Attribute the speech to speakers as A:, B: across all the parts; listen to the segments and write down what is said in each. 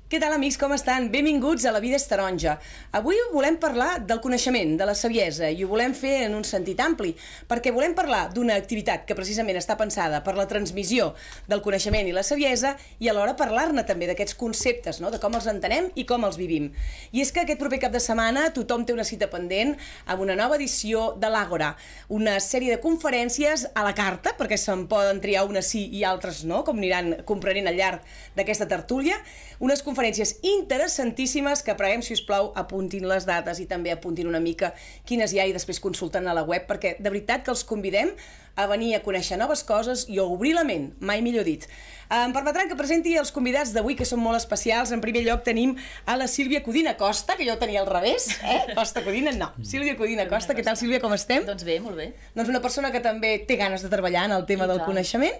A: Què tal, amics, com estan? Benvinguts a La vida és taronja. Avui volem parlar del coneixement, de la saviesa, i ho volem fer en un sentit ampli, perquè volem parlar d'una activitat que precisament està pensada per la transmissió del coneixement i la saviesa, i alhora parlar-ne també d'aquests conceptes, no? De com els entenem i com els vivim. I és que aquest proper cap de setmana tothom té una cita pendent amb una nova edició de l'Àgora, una sèrie de conferències a la carta, perquè se'n poden triar unes sí i altres no, com aniran comprenent al llarg d'aquesta tertúlia, unes conferències interessantíssimes que preguem, si us plau, apuntin les dates i també apuntin una mica quines hi ha i després consulten a la web, perquè de veritat que els convidem a venir a conèixer noves coses i a obrir la ment, mai millor dit. Em permetran que presenti els convidats d'avui, que són molt especials. En primer lloc tenim a la Sílvia Codina Costa, que jo tenia al revés, Costa Codina, no, Sílvia Codina Costa. Què tal, Sílvia, com estem?
B: Doncs bé, molt bé.
A: Doncs una persona que també té ganes de treballar en el tema del coneixement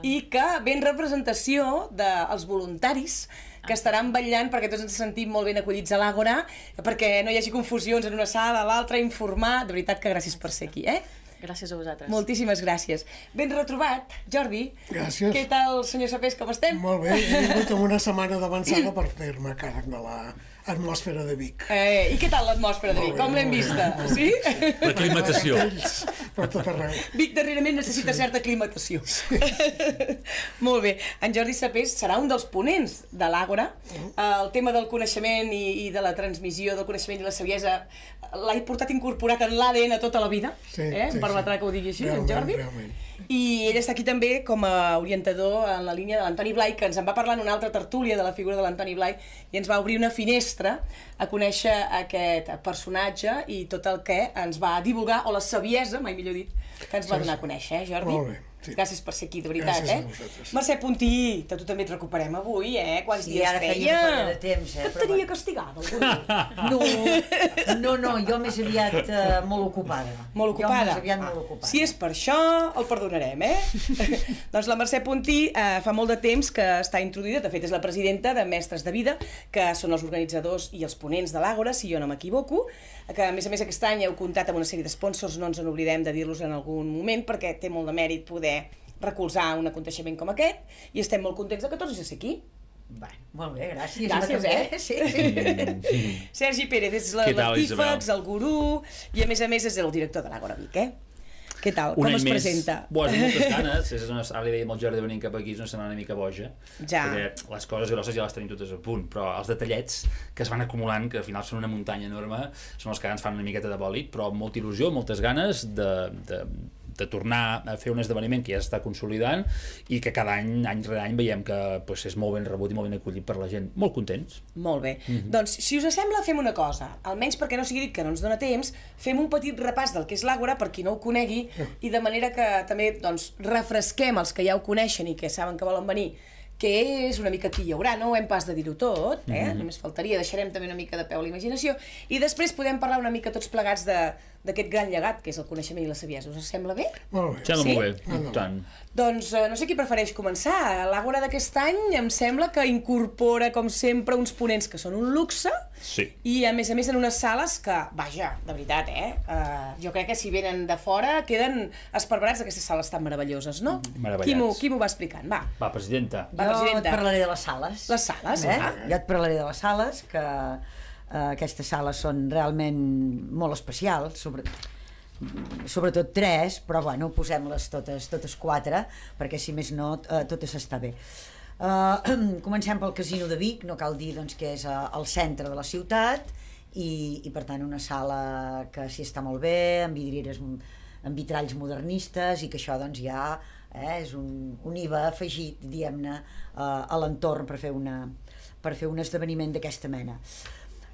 A: i que ve en representació dels voluntaris que estaran vetllant perquè tots ens sentim molt ben acollits a l'Àgora, perquè no hi hagi confusions en una sala, a l'altra, informar. De veritat que gràcies per ser aquí,
B: Gràcies a vosaltres.
A: Moltíssimes gràcies. Ben retrobat, Jordi.
C: Gràcies.
A: Què tal, senyor Sapés, com estem?
C: Molt bé, he vingut amb una setmana d'avançada per fer-me càrrec de l'atmosfera de Vic.
A: I què tal l'atmosfera de Vic? Com l'hem vista? Sí?
D: L'aclimatació.
C: Per tot arreu.
A: Vic darrerament necessita certa aclimatació. Molt bé. En Jordi Sapés serà un dels ponents de l'Àgora. El tema del coneixement i de la transmissió del coneixement i la saviesa l'ha portat incorporat en l'ADN tota la vida. Em permetrà que ho digui així, en Jordi.
C: Realment.
A: I ell està aquí també com a orientador en la línia de l'Antoni Blai, que ens en va parlar en una altra tertúlia de la figura de l'Antoni Blai i ens va obrir una finestra a conèixer aquest personatge i tot el que ens va divulgar, o la saviesa, mai millor dit, que ens va donar a conèixer, Jordi?
C: Molt bé. Sí.
A: Gràcies per ser aquí, de veritat,
C: Gràcies a vosaltres.
A: Mercè Puntí, que tu també et recuperem avui, Quants dies
E: ara feia una colla de temps,
A: Que et tenia castigada, algú?
E: No, jo més aviat molt ocupada.
A: Molt ocupada?
E: Jo més aviat molt ocupada.
A: Si és per això, el perdonarem, Doncs la Mercè Puntí fa molt de temps que està introduïda, de fet és la presidenta de Mestres de Vida, que són els organitzadors i els ponents de l'Àgora, si jo no m'equivoco, que a més aquest any heu comptat amb una sèrie de sponsors, no ens en oblidem de dir-los en algun moment, perquè té molt de mèrit poder recolzar un aconteixement com aquest, i estem molt contents de que tornis a ser aquí.
E: Bé, molt bé, gràcies.
A: Gràcies,
E: Sí.
A: Sergi Pérez és l'artífex, el gurú, i a més és el director de l'Àgora Vic, Què tal? Com es presenta?
D: Bueno, moltes ganes. Ara li dèiem al Jordi venint cap aquí, és una setmana una mica boja, perquè les coses grosses ja les tenim totes a punt, però els detallets que es van acumulant, que al final són una muntanya enorme, són els que ens fan una miqueta de bòlit, però amb molta il·lusió, moltes ganes de tornar a fer un esdeveniment que ja s'està consolidant i que cada any rere any veiem que és molt ben rebut i molt ben acollit per la gent. Molt contents.
A: Molt bé. Doncs, si us sembla, fem una cosa. Almenys perquè no sigui dit que no ens dona temps, fem un petit repàs del que és l'Àgora, per qui no ho conegui, i de manera que també refresquem els que ja ho coneixen i que saben que volen venir, que és una mica qui hi haurà, no ho hem pas de dir-ho tot, només faltaria, deixarem també una mica de peu a la imaginació, i després podem parlar una mica tots plegats d'aquest gran llegat que és el coneixement i la saviesa. Us sembla bé?
C: Molt bé.
D: Sembla molt bé, tant.
A: Doncs no sé qui prefereix començar. L'Àgora d'aquest any em sembla que incorpora, com sempre, uns ponents que són un luxe, i a més en unes sales que, vaja, de veritat, jo crec que si venen de fora queden esparverats d'aquestes sales tan meravelloses, no?
D: Meravellats.
A: Qui m'ho va explicant? Va,
D: presidenta.
E: Jo et parlaré de les sales.
A: Les sales,
E: Jo et parlaré de les sales, que aquestes sales són realment molt especials, sobretot 3, però bueno, posem-les totes 4, perquè si més no, totes està bé. Comencem pel Casino de Vic, no cal dir doncs, que és al centre de la ciutat, i per tant una sala que s'hi està molt bé, amb vidrieres, amb vitralls modernistes, i que això doncs ja és un IVA afegit, diguem-ne, a l'entorn per fer un esdeveniment d'aquesta mena.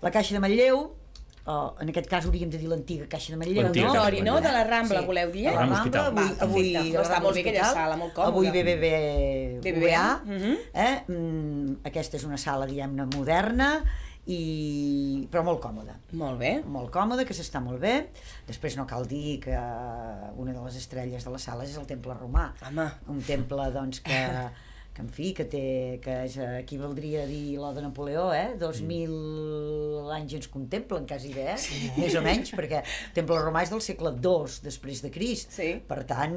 E: La Caixa de Manlleu, en aquest cas hauríem de dir l'antiga Caixa de Manlleu,
A: no? De la Rambla, voleu dir?
E: La Rambla, avui
A: està molt bé aquella sala, molt còmoda.
E: Avui BBVA. Aquesta és una sala, diguem-ne, moderna, però molt còmoda.
A: Molt bé.
E: Molt còmoda, que s'està molt bé. Després no cal dir que una de les estrelles de les sales és el Temple Romà.
A: Home.
E: Un temple, doncs, que en fi, que és, aquí valdria dir l'O de Napoleó, 2.000 anys ens contemplen, quasi bé, més o menys, perquè el Temple Romà és del segle II després de Crist. Per tant,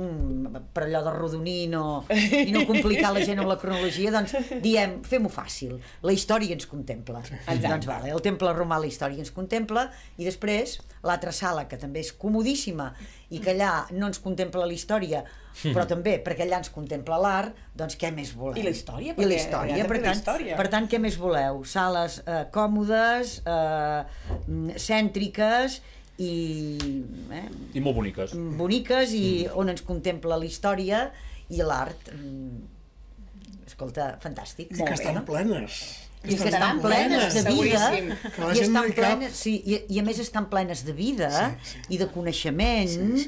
E: per allò d'arrodonir i no complicar la gent amb la cronologia, doncs diem, fem-ho fàcil, la història ens contempla. Doncs vale, el Temple Romà, la història ens contempla, i després l'altra sala, que també és comodíssima, i que allà no ens contempla la història, però també perquè allà ens contempla l'art, doncs què més voleu?
A: I la història?
E: I la història, per tant, què més voleu? Sales còmodes, cèntriques
D: i molt boniques.
E: Boniques, i on ens contempla la història i l'art. Escolta, fantàstic.
C: I que estan plenes.
E: I que estan plenes de vida,
C: i estan plenes,
E: i a més estan plenes de vida i de coneixement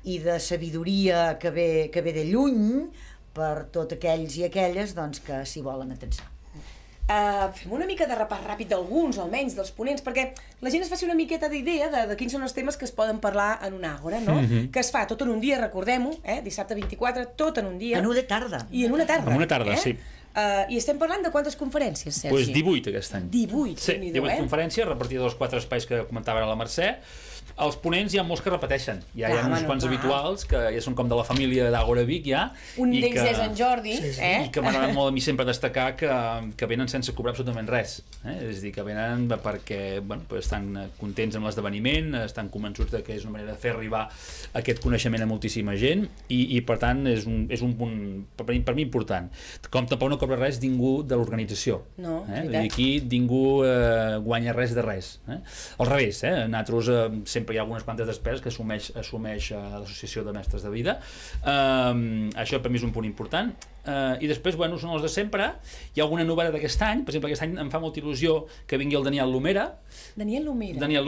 E: i de sabidoria que ve de lluny per tots aquells i aquelles doncs, que s'hi volen atensar.
A: Fem una mica de repàs ràpid d'alguns, almenys, dels ponents, perquè la gent es faci una miqueta d'idea de quins són els temes que es poden parlar en una àgora, no? Que es fa tot en un dia, recordem-ho, dissabte 24, tot en un dia.
E: En una tarda.
A: I en una tarda.
D: En una tarda, sí.
A: I estem parlant de quantes conferències, Sergi?
D: Doncs 18 aquest any.
A: 18,
D: sí, 18 conferències repartides als 4 espais que comentava ara la Mercè. Els ponents hi ha molts que repeteixen. Hi ha uns quants habituals que ja són com de la família d'Àgora Vic, ja.
A: Un d'ells és en Jordi.
D: I que m'agrada molt a mi sempre destacar que venen sense cobrar absolutament res. És a dir, que venen perquè estan contents amb l'esdeveniment, estan convençuts que és una manera de fer arribar aquest coneixement a moltíssima gent i per tant és un punt per mi important. Com tampoc no cobra res ningú de l'organització.
A: No,
D: aquí ningú guanya res de res. Al revés, nosaltres sempre hi ha algunes quantes despeses que assumeix l'Associació de Mestres de Vida. Això per mi és un punt important. I després, són els de sempre. Hi ha alguna novetat d'aquest any. Per exemple, aquest any em fa molta il·lusió que vingui el Daniel Lumera.
A: Daniel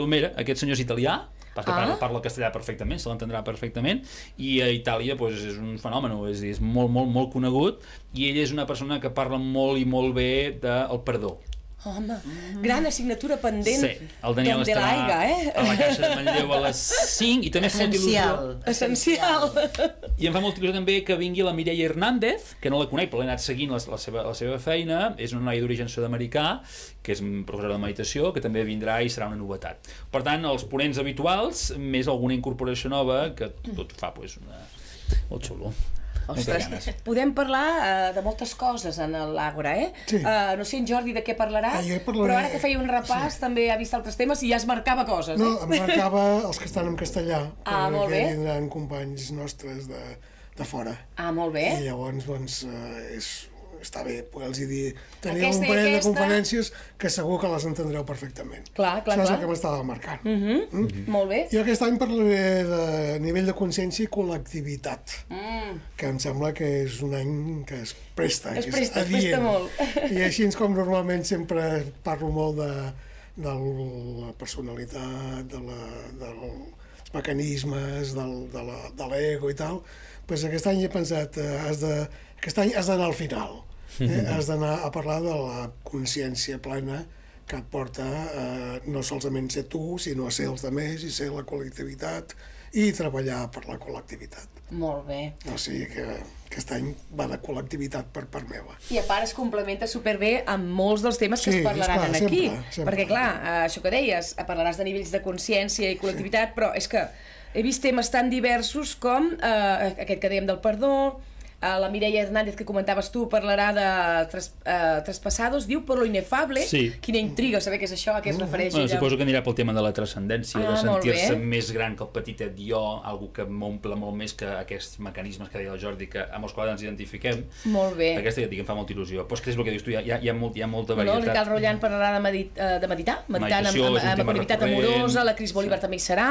A: Lumera,
D: aquest senyor és italià. Parla castellà perfectament, se l'entendrà perfectament, i a Itàlia és un fenomen, és molt, molt, molt conegut, i ell és una persona que parla molt i molt bé del perdó.
A: Home, gran assignatura pendent.
D: Sí, el Daniel estarà a la Caixa de Manlleu a les 5 i també fa molta il·lusió.
A: Essencial.
D: I em fa molta il·lusió també que vingui la Mireia Hernández, que no la conec, però l'he anat seguint la seva feina. És una noia d'origen sud-americà, que és professora de meditació, que també vindrà i serà una novetat. Per tant, els ponents habituals, més alguna incorporació nova, que tot fa molt xulo.
A: Ostres, podem parlar de moltes coses en l'Àgora,
C: Sí.
A: No sé en Jordi de què parlarà, però ara que feia un repàs també ha vist altres temes i ja es marcava coses.
C: No, em marcava els que estan en castellà,
A: molt bé.
C: perquè vindran companys nostres de fora.
A: Molt bé.
C: I llavors, està bé poder-los dir, teniu un parell de conferències que segur que les entendreu perfectament.
A: Clar.
C: Això és el que m'estava marcant.
A: Molt bé.
C: I aquest any parlaré de nivell de consciència i col·lectivitat, que em sembla que és un any que es presta,
A: es presta molt.
C: I així com normalment sempre parlo molt de la personalitat, dels mecanismes, de l'ego i tal, doncs aquest any he pensat, aquest any has d'anar al final. Has d'anar a parlar de la consciència plena que et porta no solament ser tu, sinó a ser els altres i ser la col·lectivitat i treballar per la col·lectivitat.
A: Molt bé.
C: O sigui que aquest any va de col·lectivitat per part meva.
A: I a part es complementa superbé amb molts dels temes que es parlaran aquí. Perquè clar, això que deies, parlaràs de nivells de consciència i col·lectivitat, però és que he vist temes tan diversos com aquest que dèiem del perdó. La Mireia Hernández, que comentaves tu, parlarà de Traspassados, diu por lo inefable. Quina intriga saber què és això, a què es refereix.
D: Suposo que anirà pel tema de la transcendència, de sentir-se més gran que el petitet jo, algo que m'omple molt més que aquests mecanismes que deia el Jordi, amb els quals ens identifiquem.
A: Molt bé.
D: Aquesta ja et dic, em fa molta il·lusió. Però és que és el que dius tu, hi ha molta varietat.
A: El Ricard Rollant parlarà de meditar, meditant amb la connectivitat amorosa, la Cris Bolívar també hi serà,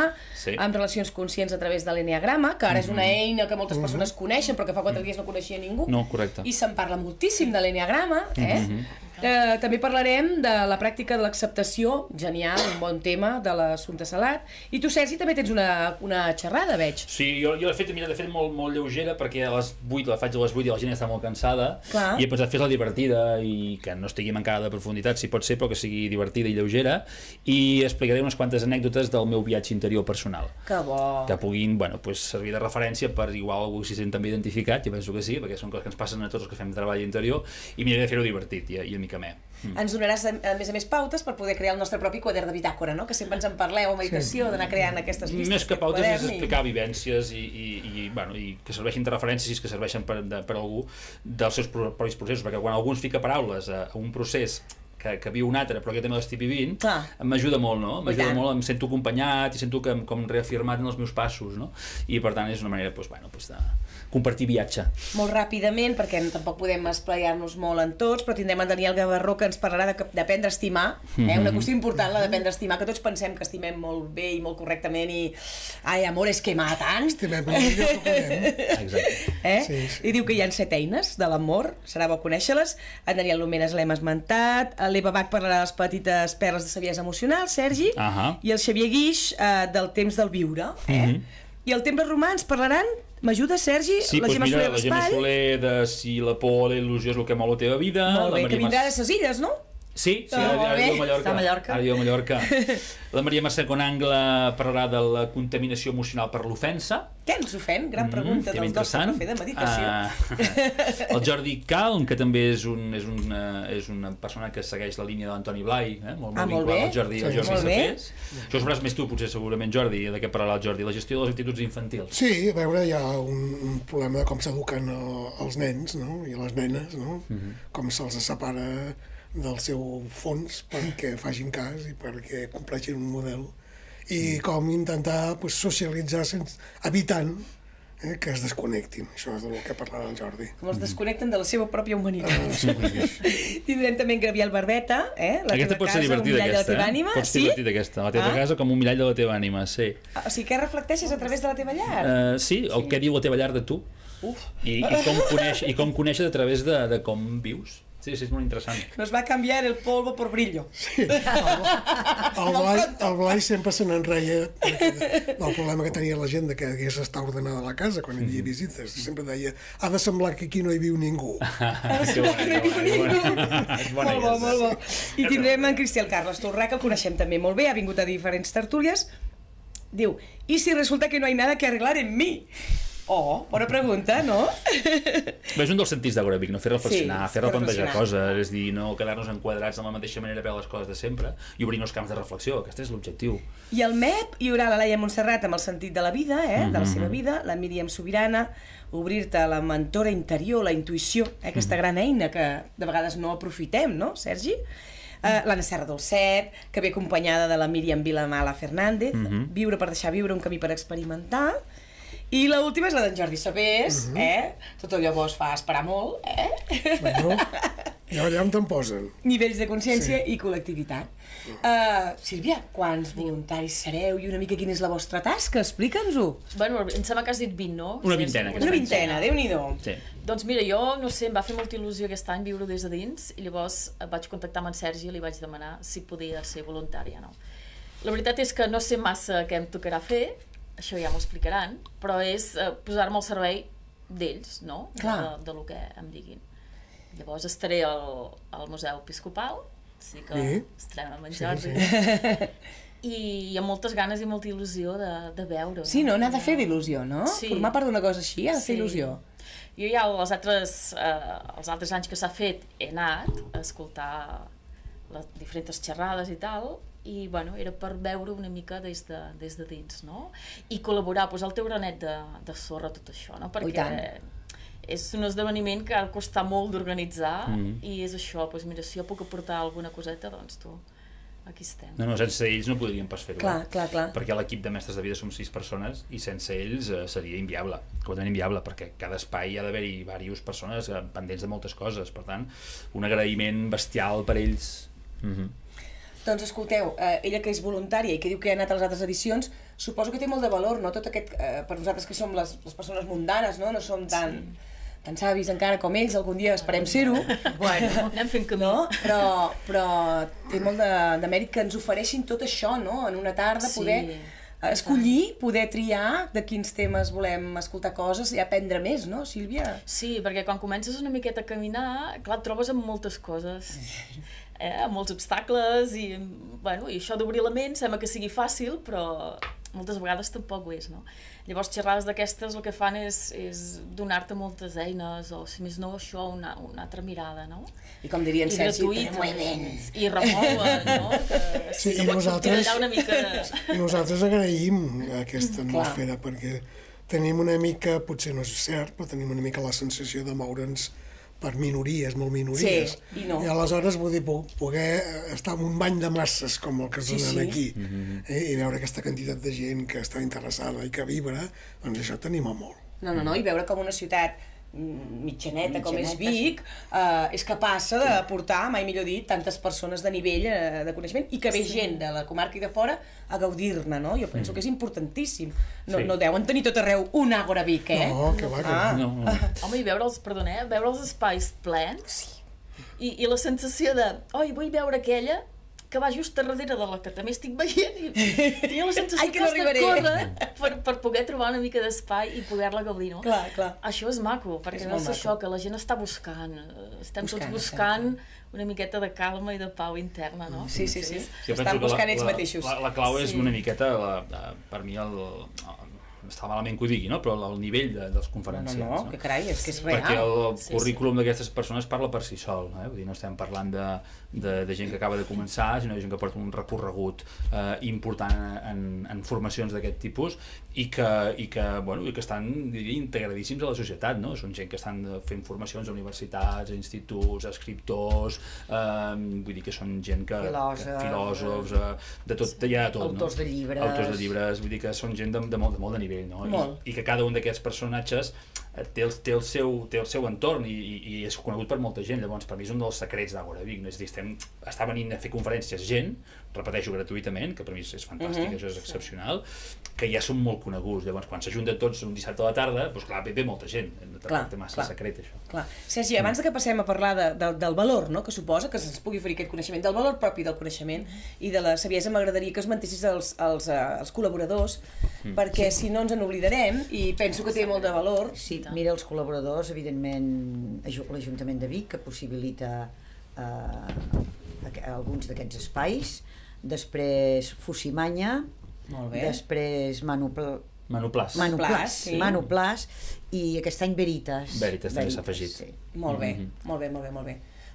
A: amb relacions conscients a través de l'enneagrama, que ara és una eina que moltes persones coneixen, però que fa 4 dies no coneixia ningú.
D: No, correcte.
A: I se'n parla moltíssim de l'enneagrama, També parlarem de la pràctica de l'acceptació, genial, un bon tema, de l'assumpte Salat. I tu, Sergi, també tens una xerrada, veig.
D: Sí, jo l'he fet, molt lleugera, perquè a les 8, la faig a les 8 i la gent està molt cansada, i he pensat fer-la divertida i que no estigui mancada de profunditat, si pot ser, però que sigui divertida i lleugera, i explicaré unes quantes anècdotes del meu viatge interior personal.
A: Que bo!
D: Que puguin, servir de referència per igual algú s'hi sent també identificat, jo penso que sí, perquè són coses que ens passen a tots els que fem treball interior, i miraré de fer-ho divertit i una mica més.
A: Ens donaràs, a més pautes per poder crear el nostre propi quadern de bitàcora, no? Que sempre ens en parleu a meditació, d'anar creant aquestes llistes.
D: Més que pautes és explicar vivències i que serveixin de referència, si és que serveixen per algú, dels seus propis processos, perquè quan algú ens fica paraules a un procés que viu un altre, però que també l'estic vivint, m'ajuda molt, no? M'ajuda molt, em sento acompanyat i sento com reafirmat en els meus passos, no? I per tant és una manera de compartir viatge.
A: Molt ràpidament, perquè tampoc podem esplaiar-nos molt en tots, però tindrem en Daniel Gavarró que ens parlarà d'aprendre a estimar, una qüestió important, la d'aprendre a estimar, que tots pensem que estimem molt bé i molt correctament i ai, amores que matan.
C: Estimem molt millor que podem.
D: Exacte.
C: Sí.
A: I diu que hi ha 7 eines de l'amor, serà bo conèixer-les. En Daniel Lumenes l'hem esmentat, l'Eva Bach parlarà de les petites perles de saviesa emocional, Sergi, i el Xavier Guix del temps del viure. I el Temples Romans parlaran, m'ajuda, Sergi?
D: Sí,
A: la Gemma Soler
D: la Gemma Soler de si la por o la il·lusió és el que mou la teva vida.
A: Molt bé, que vindrà de ses illes, no?
D: Sí, ara diu a Mallorca. Ara diu a Mallorca. La Maria Mercè Conangle parlarà de la contaminació emocional per l'ofensa.
A: Què ens ofèn? Gran pregunta del nostre profe de meditació.
D: El Jordi Calm, que també és una persona que segueix la línia de l'Antoni Blai, molt vinculat al Jordi Safés. Això ho sabràs més tu, potser, segurament, Jordi, de què parlarà el Jordi, la gestió de les actituds infantils.
C: Sí, a veure, hi ha un problema de com s'eduquen els nens, no? I les nenes, no? Com se'ls separa del seu fons perquè facin cas i perquè compleixin un model i com intentar socialitzar evitant que es desconnectin. Això és del que parlarà el Jordi.
A: Com els desconnecten de la seva pròpia humanitat. Tindrem també en Gabriel Barbeta, la
D: aquesta
A: teva casa, un mirall de la teva ànima.
D: Pot ser divertida, aquesta. La teva casa com un mirall de la teva ànima, sí.
A: O sigui, què reflecteixes a través de la teva llar?
D: Sí, el que diu la teva llar de tu. I com conèixer a través de com vius. Sí, és molt interessant.
A: Nos va canviar el polvo por brillo.
C: Sí, el Blai sempre se n'enreia del problema que tenia la gent de que hagués d'estar ordenada la casa quan hi havia visites. Sempre deia, ha de semblar que aquí no hi viu ningú.
A: Molt bo. I tindrem en Cristian Carles Torrà, que el coneixem també molt bé, ha vingut a diferents tertúlies. Diu, ¿y si resulta que no hay nada que arreglar en mí? Oh, bona pregunta, no?
D: És un dels sentits d'Agoràbic, no? Fer reflexionar, fer replantejar coses, és dir, no quedar-nos enquadrats de la mateixa manera a veure les coses de sempre i obrir nous camps de reflexió, aquest és l'objectiu.
A: I al MEP hi haurà la Laia Montserrat amb el sentit de la vida, de la seva vida, la Míriam Sobirana, obrir-te a la mentora interior, la intuïció, aquesta gran eina que de vegades no aprofitem, no, Sergi? L'Anna Serra Dolcet, que ve acompanyada de la Míriam Vilamala Fernández, Viure per deixar viure, un camí per experimentar. I l'última és la d'en Jordi Safés, Tot allò bo es fa esperar molt,
C: Bueno, ja allà on te'n posen.
A: Nivells de consciència i col·lectivitat. Sílvia, quants voluntaris sereu i una mica quina és la vostra tasca? Explica'ns-ho.
B: Bueno, em sembla que has dit 20, no?
D: Una vintena.
A: Una vintena, Déu-n'hi-do.
D: Sí.
B: Doncs mira, jo, no sé, em va fer molta il·lusió aquest any viure des de dins i llavors vaig contactar amb en Sergi i li vaig demanar si podia ser voluntària, no? La veritat és que no sé massa què em tocarà fer, això ja m'ho explicaran, però és posar-me al servei d'ells, no? De lo que em diguin. Llavors estaré al Museu Episcopal, sí que estarem amb en Jordi, i amb moltes ganes i molta il·lusió de veure.
A: Sí, no? N'ha de fer d'il·lusió, no? Formar part d'una cosa així ha de fer il·lusió.
B: Jo ja els altres anys que s'ha fet he anat a escoltar les diferents xerrades i tal, i bueno, era per veure una mica des de dins, no? I col·laborar, posar el teu granet de sorra a tot això, no? Perquè és un esdeveniment que ha de costar molt d'organitzar i és això, doncs mira, si jo puc aportar alguna coseta, doncs tu, aquí estem.
D: No, sense ells no podríem pas fer-ho.
A: Clar.
D: Perquè l'equip de mestres de vida som 6 persones i sense ells seria inviable, completament inviable, perquè cada espai hi ha d'haver-hi diverses persones pendents de moltes coses, per tant, un agraïment bestial per ells.
A: Doncs escolteu, ella que és voluntària i que diu que ha anat a les altres edicions, suposo que té molt de valor, no? Tot aquest, per nosaltres que som les persones mundanes, no? No som tan tan savis encara com ells, algun dia esperem ser-ho.
B: Bueno, anem fent camí.
A: No? Però té molt de mèrit que ens ofereixin tot això, no? En una tarda poder escollir, poder triar de quins temes volem escoltar coses i aprendre més, no, Sílvia?
B: Sí, perquè quan comences una miqueta a caminar, clar, et trobes amb moltes coses, amb molts obstacles, i això d'obrir la ment sembla que sigui fàcil, però moltes vegades tampoc ho és, no? Llavors, xerrades d'aquestes el que fan és donar-te moltes eines, o si més no, això, una altra mirada, no?
A: I com dirien Sergi,
B: i remouen, no?
C: Sí,
B: i
C: nosaltres agraïm aquesta atmosfera, perquè tenim una mica, potser no és cert, però tenim una mica la sensació de moure'ns per minories, molt minories.
A: Sí,
C: I aleshores, vull dir, poder estar en un bany de masses com el que es donen aquí, i veure aquesta quantitat de gent que està interessada i que vibra, doncs això tenim a molt.
A: No, i veure com una ciutat mitjaneta com és Vic és capaç de portar, mai millor dit, tantes persones de nivell de coneixement i que ve gent de la comarca i de fora a gaudir-ne, no? Jo penso que és importantíssim. No deuen tenir tot arreu un Àgora Vic,
C: No, que va, que no.
B: Home, i veure els espais plens i la sensació de, vull veure aquella que va just darrere de la que també estic veient i tenia la sensació que has de córrer per poder trobar una mica d'espai i poder-la gaudir, no?
A: Clar.
B: Això és maco, perquè veus això, que la gent està buscant, estem tots buscant una miqueta de calma i de pau interna, no?
A: Sí. Estan buscant ells mateixos.
D: La clau és una miqueta, per mi, està malament que ho digui, no? Però el nivell dels conferenciants.
A: No, que carai, és que és real.
D: Perquè el currículum d'aquestes persones parla per si sol, vull dir, no estem parlant de gent que acaba de començar, sinó de gent que porta un recorregut important en formacions d'aquest tipus i que estan, diria, integradíssims a la societat, no? Són gent que estan fent formacions a universitats, a instituts, a escriptors, vull dir que són gent que... filòsofs, de tot, hi ha de tot, no?
E: Autors de llibres,
D: vull dir que són gent de molt de nivell, no? I que cada un d'aquests personatges té el seu entorn i és conegut per molta gent. Llavors, per mi és un dels secrets d'Àgora Vic, no? És a dir, està venint a fer conferències gent, repeteixo, gratuïtament, que per mi és fantàstic, això és excepcional, que ja són molt coneguts. Llavors, quan s'ajunten tots un dissabte a la tarda, doncs clar, ve molta gent, no té massa secret, això.
A: Clar. Sergi, abans que passem a parlar del valor, no?, que suposa que se'ns pugui oferir aquest coneixement, del valor propi del coneixement i de la saviesa, m'agradaria que us mentessis als col·laboradors, perquè si no ens en oblidarem, i penso que té molt de valor.
E: Sí, mira, els col·laboradors, evidentment, l'Ajuntament de Vic, que possibilita alguns d'aquests espais, després Fusimanya, després
D: Manuplàs,
E: i aquest any Veritas.
D: Veritas també s'ha afegit.
A: Molt bé.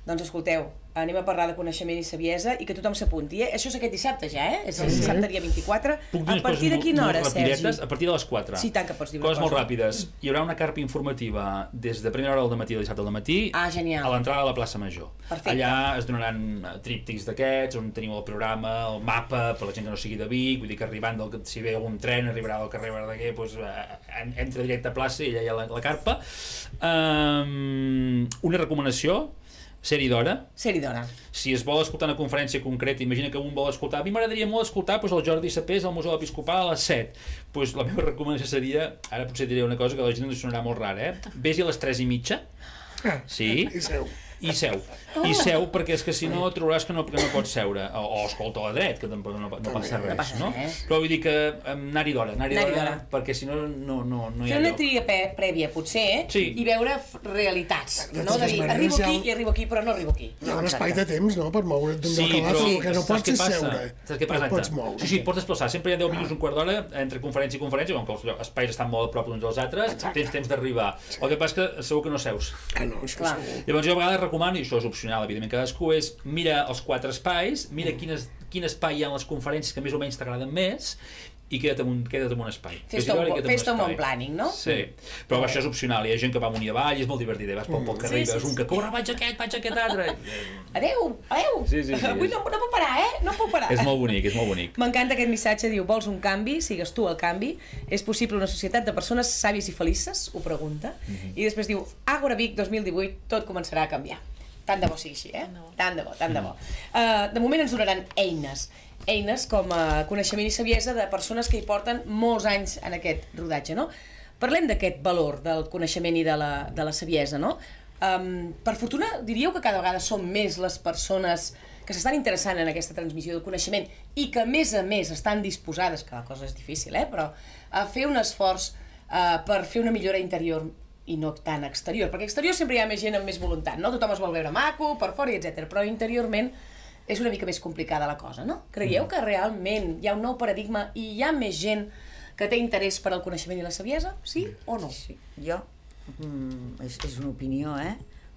A: Doncs escolteu, anem a parlar de coneixement i saviesa i que tothom s'apunti, Això és aquest dissabte ja, És el dissabte dia 24. A partir de quina hora, Sergi?
D: A partir de les 4.
A: Sí, tant que pots dir una
D: cosa. Coses molt ràpides. Hi haurà una carpa informativa des de primera hora del matí, del dissabte al matí,
A: genial,
D: a l'entrada de la plaça Major.
A: Perfecte.
D: Allà es donaran tríptics d'aquests, on teniu el programa, el mapa, per la gent que no sigui de Vic, vull dir que arribant, si ve algun tren, arribarà del carrer Verdaguer, doncs entra directe a plaça i allà hi ha la carpa. Una recomanació: ser-hi d'hora. Si es vol escoltar una conferència concreta, imagina que un vol escoltar, a mi m'agradaria molt escoltar el Jordi Sapés al Museu Episcopal a les 7. Doncs la meva recomanació seria, ara potser diré una cosa que a la gent ens sonarà molt rara, vés-hi a les 3:30. Sí. I seu, perquè és que si no trobaràs que no pots seure, o escolta a la dret, que tampoc no passa res, no? Però vull dir que anar-hi d'hora, perquè si no hi ha
A: fer una tria prèvia, potser, i veure realitats, no? De dir, arribo aquí i arribo aquí, però no arribo aquí.
C: Hi ha un espai de temps, no?, per moure't d'un lloc a l'altre, el que no pots és seure, però pots moure.
D: Sí, pots desplaçar, sempre hi ha 10 minuts, un quart d'hora, entre conferència i conferència, com que els espais estan molt a prop uns dels altres, tens temps d'arribar. El que passa és que segur que no seus. Llavors jo a vegades recomano, i això és opcional, evidentment, cadascú, és mira els 4 espais, mira quin espai hi ha en les conferències que més o menys t'agraden més, i queda't amb un espai.
A: Fes-te un bon planning, no?
D: Sí, però això és opcional, hi ha gent que va amunt i avall i és molt divertit, vas pel carrer i veus un que corre, vaig aquest altre.
A: Adéu! Avui no puc parar, no puc parar.
D: És molt bonic.
A: M'encanta aquest missatge, diu, vols un canvi, sigues tu el canvi, és possible una societat de persones sàvies i felices, ho pregunta, i després diu, Àgora Vic 2018, tot començarà a canviar. Tant de bo sigui així, Tant de bo. De moment ens donaran eines com a coneixement i saviesa de persones que hi porten molts anys en aquest rodatge, no? Parlem d'aquest valor del coneixement i de la saviesa, no? Per fortuna, diríeu que cada vegada són més les persones que s'estan interessant en aquesta transmissió del coneixement i que, a més, estan disposades, que la cosa és difícil, però a fer un esforç per fer una millora interior i no tan exterior, perquè exterior sempre hi ha més gent amb més voluntat, no? Tothom es vol veure maco, per fora, etc. Però interiorment és una mica més complicada la cosa, no? Creieu que realment hi ha un nou paradigma i hi ha més gent que té interès per al coneixement i la saviesa? Sí o no?
E: Sí, jo, és una opinió,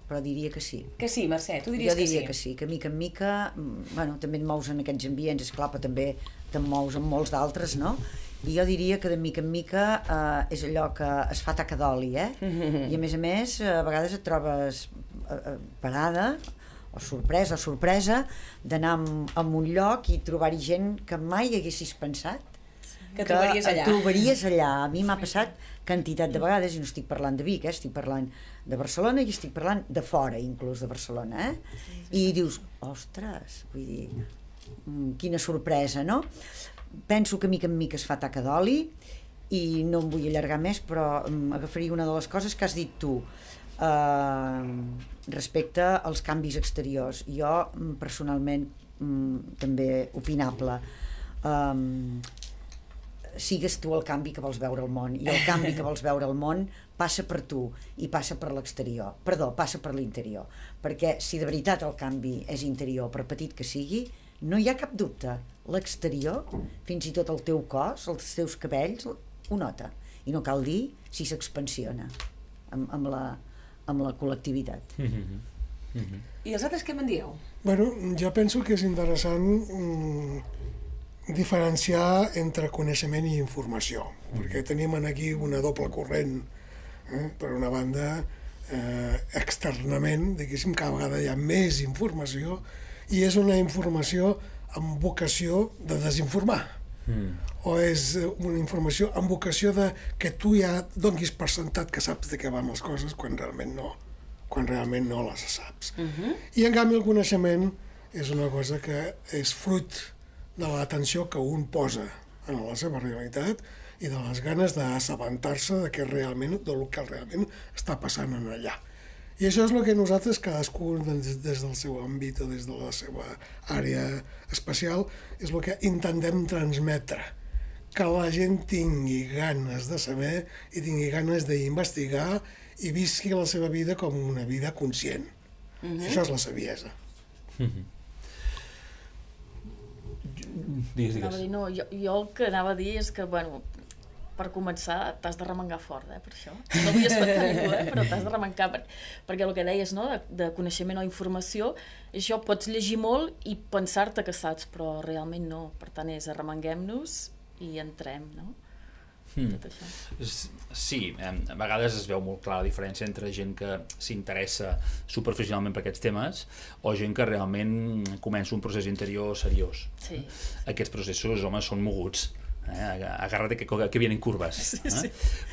E: però diria que sí.
A: Que sí, Mercè, tu diries que sí?
E: Jo diria que sí, que mica en mica, bueno, també et mous en aquests ambients, esclar, però també te'n mous en molts d'altres, no? I jo diria que de mica en mica és allò que es fa taca d'oli, I a més, a vegades et trobes parada, o sorpresa, d'anar a un lloc i trobar-hi gent que mai haguessis pensat
A: que trobaries allà.
E: Trobaries allà. A mi m'ha passat quantitat de vegades, i no estic parlant de Vic, estic parlant de Barcelona i estic parlant de fora, inclús de Barcelona, I dius, ostres, vull dir, quina sorpresa, no? Penso que mica en mica es fa taca d'oli i no em vull allargar més, però agafaria una de les coses que has dit tu respecte als canvis exteriors. Jo, personalment, també opinable, sigues tu el canvi que vols veure al món, i el canvi que vols veure al món passa per tu i passa per l'exterior, passa per l'interior, perquè si de veritat el canvi és interior, per petit que sigui, no hi ha cap dubte, l'exterior, fins i tot el teu cos, els teus cabells, ho nota, i no cal dir si s'expansiona amb la col·lectivitat.
A: I els altres què me'n dieu?
C: Bueno, jo penso que és interessant diferenciar entre coneixement i informació, perquè tenim aquí una doble corrent, per una banda, externament, diguéssim, cada vegada hi ha més informació i és una informació amb vocació de desinformar, o és una informació amb vocació de que tu ja donis per sentat que saps de què van les coses quan realment no les saps. I en canvi el coneixement és una cosa que és fruit de l'atenció que un posa en la seva realitat i de les ganes d'assabentar-se del que realment està passant en allà. I això és el que nosaltres, cadascú des del seu àmbit o des de la seva àrea especial, és el que intentem transmetre, que la gent tingui ganes de saber i tingui ganes d'investigar i visqui la seva vida com una vida conscient. Això és la saviesa.
D: Digues.
B: No, jo el que anava a dir és que, bueno, per començar t'has de remengar fort, per això. No vull espantar ningú, però t'has de remengar, perquè el que deies, no?, de coneixement o informació, això pots llegir molt i pensar-te que saps, però realment no. Per tant, és arremenguem-nos i entrem, no? Tot això.
D: Sí, a vegades es veu molt clara la diferència entre gent que s'interessa superficialment per aquests temes o gent que realment comença un procés interior seriós.
B: Sí.
D: Aquests processos, home, són moguts. Agarra't que vienen curves.
B: Sí.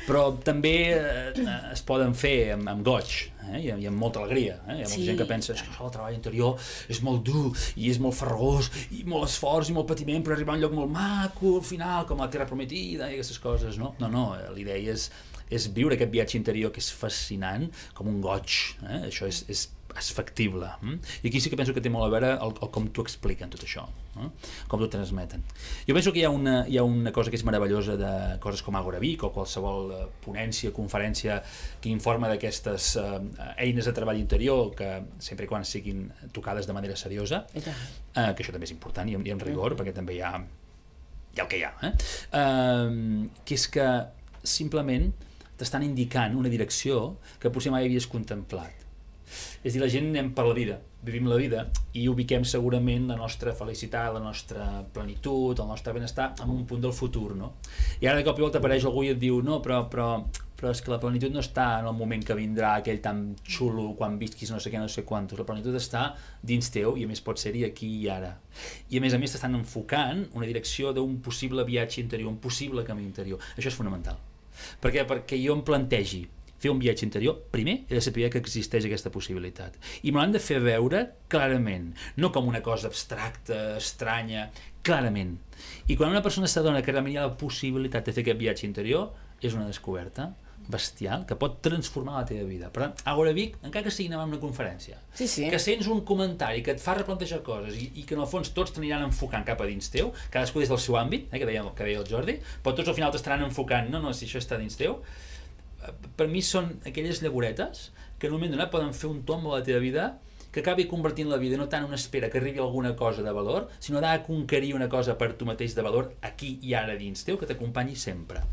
D: Però també es poden fer amb goig i amb molta alegria. Hi ha molta gent que pensa que el treball interior és molt dur i és molt farragós i molt esforç i molt patiment per arribar a un lloc molt maco al final, com la Terra Prometida i aquestes coses, no? No, l'idea és viure aquest viatge interior que és fascinant com un goig. Això és factible. I aquí sí que penso que té molt a veure el com t'ho expliquen tot això, com t'ho transmeten. Jo penso que hi ha una cosa que és meravellosa de coses com Agora Vic o qualsevol ponència, conferència que informa d'aquestes eines de treball interior que sempre i quan siguin tocades de manera seriosa, que això també és important i amb rigor, perquè també hi ha el que hi ha, que és que simplement t'estan indicant una direcció que potser mai havies contemplat. És a dir, la gent anem per la vida, vivim la vida i ubiquem segurament la nostra felicitat, la nostra plenitud, el nostre benestar en un punt del futur, no? I ara de cop i volta apareix algú i et diu no, però és que la plenitud no està en el moment que vindrà aquell tan xulo quan visquis no sé què, no sé quantos. La plenitud està dins teu i a més pot ser-hi aquí i ara. I a més t'estan enfocant una direcció d'un possible viatge interior, un possible camí interior. Això és fonamental. Per què? Perquè jo em plantegi fer un viatge interior, primer he de saber que existeix aquesta possibilitat. I me l'han de fer veure clarament, no com una cosa abstracta, estranya, clarament. I quan una persona s'adona que realment hi ha la possibilitat de fer aquest viatge interior, és una descoberta bestial que pot transformar la teva vida. Per tant, Agora Vic, encara que sigui anar a una conferència, que sents un comentari que et fa replantejar coses i que en el fons tots t'aniran enfocant cap a dins teu, cadascú des del seu àmbit, que deia el Jordi, però tots al final t'estaran enfocant, no, si això està dins teu, per mi són aquelles llagoretes que en un moment donat poden fer un tomb a la teva vida que acabi convertint la vida no tant una espera que arribi alguna cosa de valor, sinó de conquerir una cosa per tu mateix de valor aquí i ara dins teu, que t'acompanyi sempre.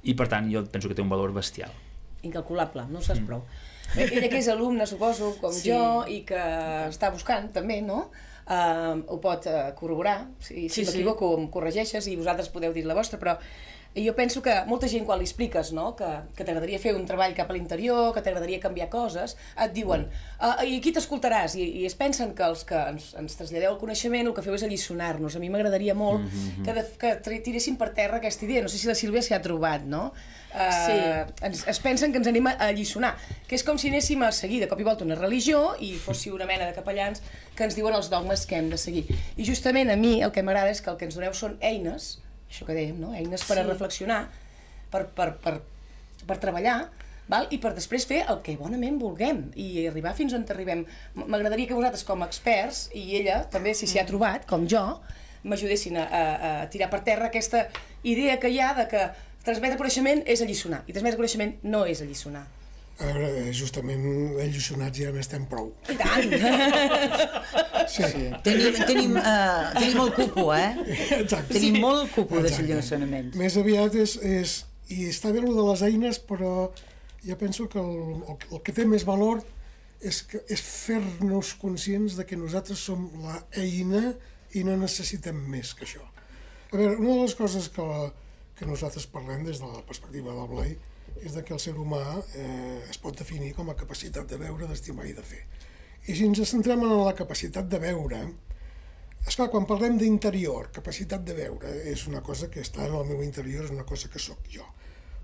D: I per tant jo penso que té un valor bestial.
A: Incalculable, no ho saps prou. Ella que és alumne, suposo, com jo, i que està buscant també, no? Ho pot corroborar, si m'equivoco em corregeixes i vosaltres podeu dir la vostra, però jo penso que molta gent quan li expliques, no, que t'agradaria fer un treball cap a l'interior, que t'agradaria canviar coses, et diuen i aquí t'escoltaràs, i es pensen que els que ens traslladeu el coneixement el que feu és alliçonar-nos. A mi m'agradaria molt que tiressin per terra aquesta idea, no sé si la Sílvia s'hi ha trobat, no? Es pensen que ens anem a alliçonar, que és com si anéssim a seguir de cop i volta una religió i fóssiu una mena de capellans que ens diuen els dogmes que hem de seguir. I justament a mi el que m'agrada és que el que ens doneu són eines, això que dèiem, no? Eines per a reflexionar, per treballar, val? I per després fer el que bonament vulguem i arribar fins on arribem. M'agradaria que vosaltres com a experts, i ella també si s'hi ha trobat, com jo, m'ajudessin a tirar per terra aquesta idea que hi ha de que transmetre coneixement és alliçonar, i transmetre coneixement no és alliçonar.
C: A veure, justament alliçonats ja n'estem prou.
A: I tant!
C: Sí.
E: Tenim el cupo,
C: Exacte.
E: Tenim molt cupo de alliçonaments.
C: Més aviat i està bé el de les eines, però jo penso que el que té més valor és fer-nos conscients de que nosaltres som l'eina i no necessitem més que això. A veure, una de les coses que nosaltres parlem des de la perspectiva del Blai és que el ser humà es pot definir com a capacitat de veure, d'estimar i de fer. I si ens centrem en la capacitat de veure, esclar, quan parlem d'interior, capacitat de veure és una cosa que està en el meu interior, és una cosa que sóc jo.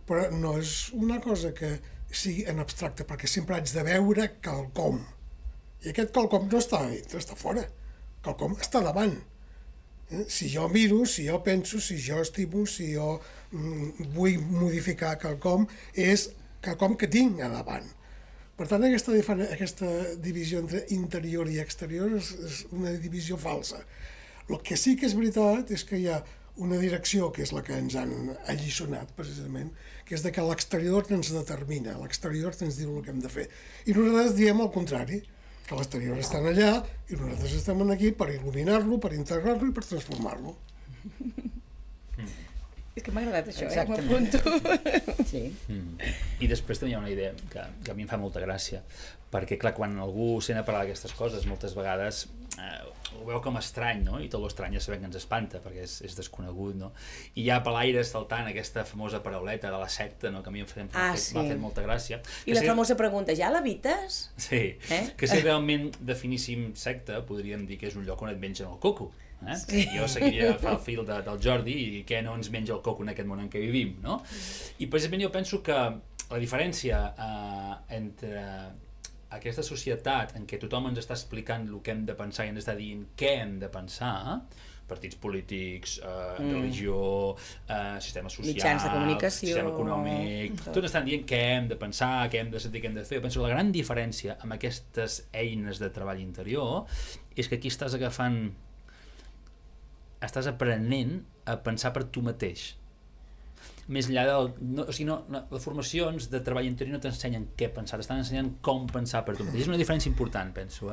C: Però no és una cosa que sigui en abstracte, perquè sempre haig de veure quelcom. I aquest quelcom no està fora, quelcom està davant. Si jo miro, si jo penso, si jo estimo, si jo vull modificar quelcom, és quelcom que tinc a davant. Per tant, aquesta divisió entre interior i exterior és una divisió falsa. El que sí que és veritat és que hi ha una direcció, que és la que ens han alliçonat, precisament, que és que l'exterior ens determina, l'exterior ens diu el que hem de fer. I nosaltres diem el contrari, que l'exterior està allà i nosaltres estem aquí per il·luminar-lo, per integrar-lo i per transformar-lo.
A: És que m'ha agradat això, m'apunto.
E: Sí.
D: I després també hi ha una idea que a mi em fa molta gràcia, perquè clar, quan algú sent a parlar d'aquestes coses, moltes vegades ho veu com estrany, no? I tot l'estrany ja sabem que ens espanta, perquè és desconegut, no? I hi ha per l'aire saltant aquesta famosa parauleta de la secta, no? Que a mi m'ha fet molta gràcia.
A: I la famosa pregunta, ja l'habites?
D: Sí, que si realment definíssim secta, podríem dir que és un lloc on et mengen el coco. Sí. Jo seguiria el fil del Jordi i què no ens menja el coco en aquest món en què vivim, no? I precisament jo penso que la diferència entre aquesta societat en què tothom ens està explicant el que hem de pensar i ens està dient què hem de pensar, partits polítics, religió, sistema social,
A: mitjans de comunicació,
D: sistema econòmic, tots estan dient què hem de pensar, què hem de sentir, què hem de fer. Penso que la gran diferència amb aquestes eines de treball interior és que aquí estàs aprenent a pensar per tu mateix. Més enllà les formacions de treball interior no t'ensenyen què pensar, t'estan ensenyant com pensar per tu mateix. És una diferència important, penso.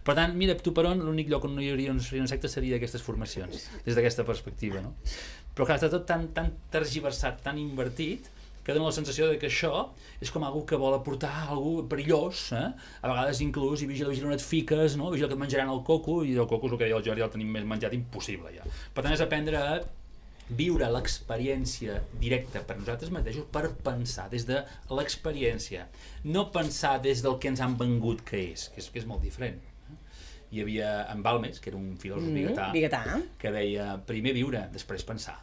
D: Per tant, mira, tu per on l'únic lloc on no hi hauria una secta seria d'aquestes formacions, des d'aquesta perspectiva, no? Però clar, està tot tan tergiversat, tan invertit, que dona la sensació que això és com algú que vol aportar algú perillós, a vegades inclús, i vigila on et fiques, no? Vigila que et menjaran el coco, i el coco és el que deia el Jordi, el tenim més menjat impossible ja. Per tant, és aprendre a viure l'experiència directa per nosaltres mateixos, per pensar des de l'experiència, no pensar des del que ens han vengut que és molt diferent. Hi havia en Balmes, que era un filòsof biguetà, que deia primer viure, després pensar.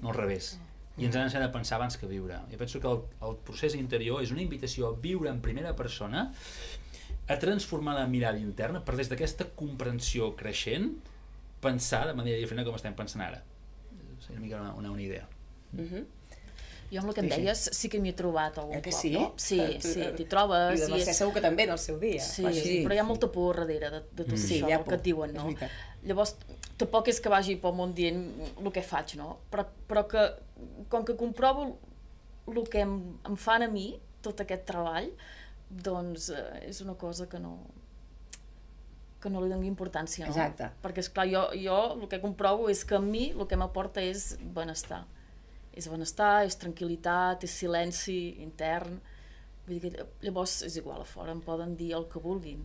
D: No al revés. I ens han ensenyat a pensar abans que viure. Jo penso que el procés interior és una invitació a viure en primera persona, a transformar la mirada interna per des d'aquesta comprensió creixent pensar de manera diferent com estem pensant ara. És una mica una idea.
B: Jo amb el que em deies sí que m'hi he trobat algun cop,
A: sí?
B: no? Sí, t'hi trobes.
A: I de Mercè segur que també en el seu dia.
B: Sí, però hi ha molta por darrere de tot això, el que et diuen, no? Llavors, tampoc és que vagi pel món dient el que faig, no? Però que, com que comprovo el que em fan a mi, tot aquest treball, doncs és una cosa que no li doni importància, no?
A: Exacte.
B: Perquè, esclar, jo el que comprovo és que a mi el que m'aporta és benestar. És benestar, és tranquil·litat, és silenci intern. Vull dir que llavors és igual, a fora em poden dir el que vulguin,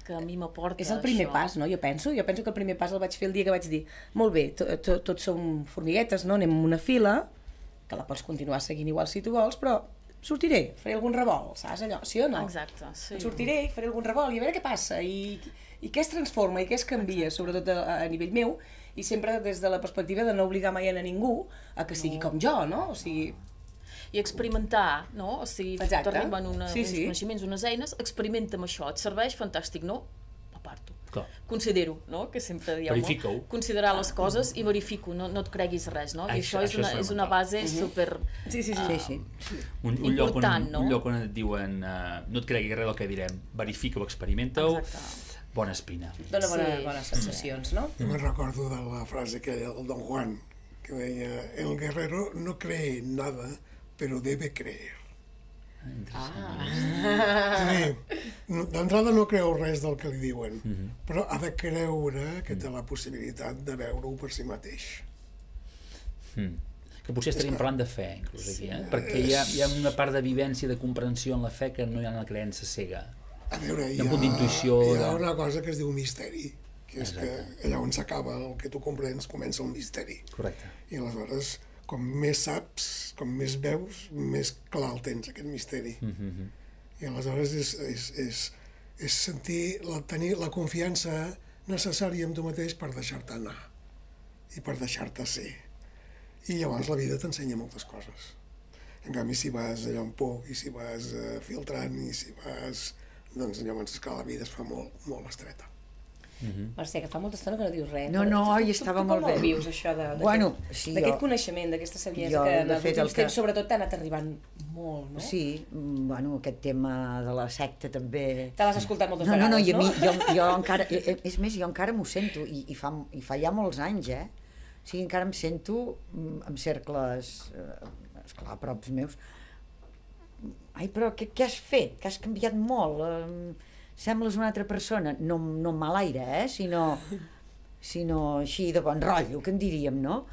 B: que a mi m'aporta això.
A: És el primer pas, no? Jo penso que el primer pas el vaig fer el dia que vaig dir molt bé, tots som formiguetes, no? Anem en una fila, que la pots continuar seguint igual si tu vols, però sortiré, faré algun revolt, saps allò? Sí o no?
B: Exacte, sí.
A: Sortiré, faré algun revolt i a veure què passa i què es transforma i què es canvia, sobretot a nivell meu, i sempre des de la perspectiva de no obligar mai a ningú a que sigui com jo, no? O sigui...
B: I experimentar, no? O sigui, t'arriben uns coneixements, unes eines, experimenta amb això, et serveix, fantàstic, no? Aparto. Considero, no? Que sempre dieu,
D: verifica-ho.
B: Considerar les coses i verifico, no et creguis res, no? I això és una base super important, no?
D: Un lloc on et diuen no et creguis res del que direm, verifica-ho, experimenta-ho. Bona espina.
A: Dóna bones sensacions, no?
C: Jo me'n recordo de la frase aquella del Don Juan, que deia, el guerrero no cree nada, pero debe creer. D'entrada no creu res del que li diuen, però ha de creure que té la possibilitat de veure-ho per si mateix.
D: Que potser estaríem parlant de fe, inclús aquí, perquè hi ha una part de vivència, de comprensió en la fe que no hi ha en la creença cega.
C: A veure, hi ha una cosa que es diu misteri, que és que allà on s'acaba el que tu comprens comença el misteri.
D: Correcte.
C: I aleshores, com més saps, com més veus, més clar el tens, aquest misteri. I aleshores és sentir, tenir la confiança necessària en tu mateix per deixar-te anar i per deixar-te ser. I llavors la vida t'ensenya moltes coses. En canvi, si vas allà on poc, i si vas filtrant, i si vas... doncs llavors és que la vida es fa molt, molt estreta.
A: Mercè, que fa molta estona que no dius res.
E: No, estava molt bé.
A: Tu com vius això d'aquest coneixement, d'aquesta saviesa que en els últims temps sobretot t'ha anat arribant molt, no?
E: Sí, bueno, aquest tema de la secta també...
A: Te l'has escoltat moltes vegades, no?
E: No, i a mi, jo encara... És més, jo encara m'ho sento, i fa ja molts anys, O sigui, encara em sento en cercles, esclar, props meus. Ai, però què has fet? Que has canviat molt. Sembles una altra persona. No en mal aire, sinó així de bon rotllo, que en diríem, no?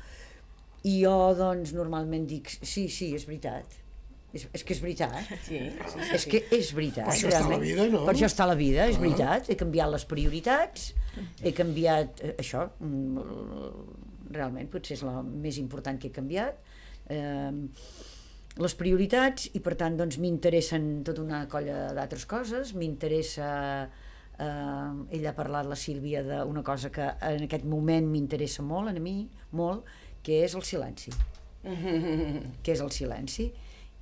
E: I jo, doncs, normalment dic, sí, és veritat. És que és veritat. És que és veritat.
C: Per això està la vida, no?
E: Per això està la vida, és veritat. He canviat les prioritats, he canviat això, realment, potser és la més important que he canviat. Les prioritats, i per tant doncs m'interessen tota una colla d'altres coses. M'interessa, ella ha parlat, la Sílvia, d'una cosa que en aquest moment m'interessa molt, a mi, molt, que és el silenci. Que és el silenci.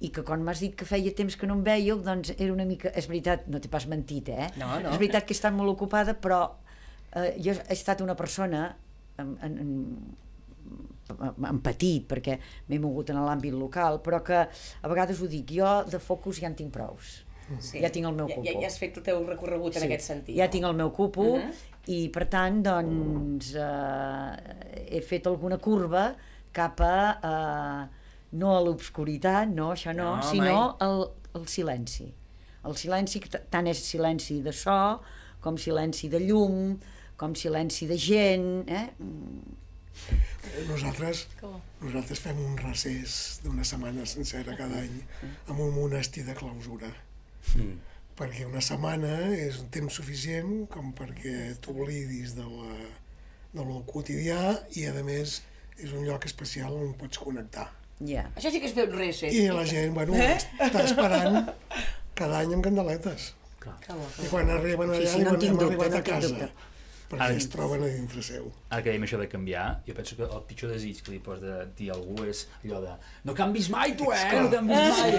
E: I que quan m'has dit que feia temps que no em veieu, doncs era una mica... És veritat, no t'he pas mentit,
A: No.
E: És veritat que he estat molt ocupada, però jo he estat una persona en petit, perquè m'he mogut en l'àmbit local, però que a vegades ho dic, jo de focus ja en tinc prous. Ja tinc el meu cupo.
A: Ja has fet el teu recorregut en aquest sentit.
E: Ja tinc el meu cupo, i per tant, doncs, he fet alguna curva cap a no a l'obscuritat, no, això no, sinó al silenci. El silenci, que tant és silenci de so, com silenci de llum, com silenci de gent,
C: Nosaltres fem un recés d'una setmana sencera cada any amb un monestir de clausura, perquè una setmana és un temps suficient com perquè t'oblidis del quotidià, i a més és un lloc especial on pots connectar.
A: Això sí que és fer un recés.
C: I la gent, està esperant cada any amb candeletes. I quan arriben allà diuen, hem arribat a casa. perquè es troben a dintre seu.
D: Ara que dèiem això de canviar, jo penso que el pitjor desig que li pots dir a algú és allò de no canvis mai tu, no canvis mai.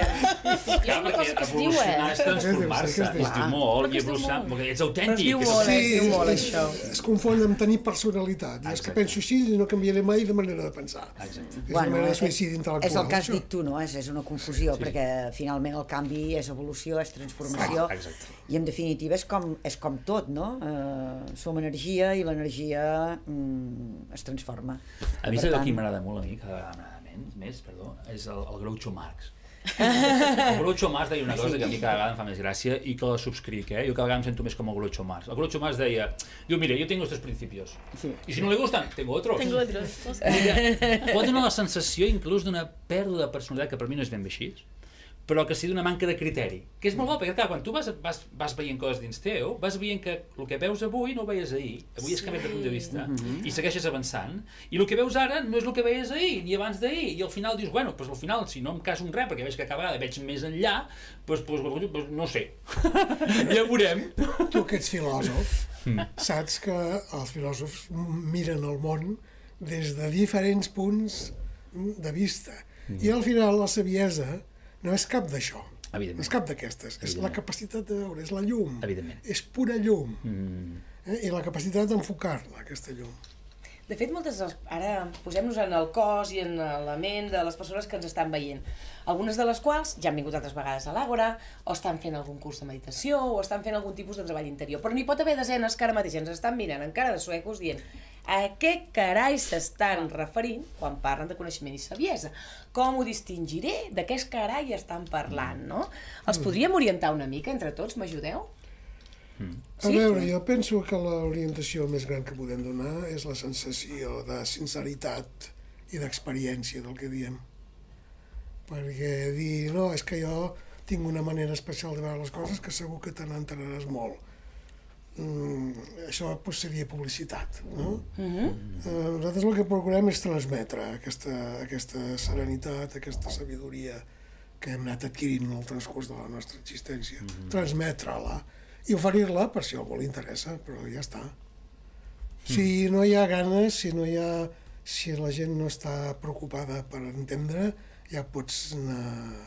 B: Hi ha una cosa que es diu,
D: evolucionar és transformar-se, es diu molt, i evolucionar, perquè ets autèntic.
A: Es diu molt, això.
C: Es confon amb tenir personalitat, i és que penso així i no canviaré mai de manera de pensar.
D: Exacte.
C: És una manera de suïcidi intel·lectual.
E: És el que has dit tu, no? És una confusió, perquè finalment el canvi és evolució, és transformació, i en definitiva és com tot, no? Som energia i l'energia es transforma.
D: A mi saps qui m'agrada molt, a mi, cada vegada més, és el Groucho Marx. El Groucho Marx deia una cosa que a mi cada vegada em fa més gràcia i que la subscric, jo cada vegada em sento més com el Groucho Marx. El Groucho Marx deia, mira, yo tengo estos principios, y si no le gustan, tengo otros. Pot donar la sensació inclús d'una pèrdua de personalitat, que per mi no és ben bé així, però que sí d'una manca de criteri, que és molt bo, perquè clar, quan tu vas veient coses dins teu, vas veient que el que veus avui no ho veies ahir, avui has canviat de punt de vista, i segueixes avançant, i el que veus ara no és el que veies ahir, ni abans d'ahir, i al final dius, bueno, doncs al final, si no em caso en res, perquè veig que cada vegada veig més enllà, doncs no sé, ja veurem.
C: Tu que ets filòsof, saps que els filòsofs miren el món des de diferents punts de vista, i al final la saviesa no és cap d'això, no és cap d'aquestes, és la capacitat de veure, és la llum, és pura llum, i la capacitat d'enfocar-la, aquesta llum.
A: De fet, ara posem-nos en el cos i en la ment de les persones que ens estan veient, algunes de les quals ja han vingut altres vegades a l'Àgora, o estan fent algun curs de meditació, o estan fent algun tipus de treball interior, però n'hi pot haver desenes que ara mateix ens estan mirant en cara de suecos dient a què carai s'estan referint quan parlen de coneixement i saviesa? Com ho distingiré? De què carai estan parlant, no? Els podríem orientar una mica entre tots? M'ajudeu?
C: A veure, jo penso que l'orientació més gran que podem donar és la sensació de sinceritat i d'experiència del que diem. Perquè dir, no, és que jo tinc una manera especial de veure les coses que segur que te n'entenaràs molt. Això seria publicitat, no? Nosaltres el que procurem és transmetre aquesta serenitat, aquesta sabidoria que hem anat adquirint en el transcurs de la nostra existència, transmetre-la i oferir-la per si a algú li interessa, però ja està. Si no hi ha ganes, si la gent no està preocupada per entendre, ja pots anar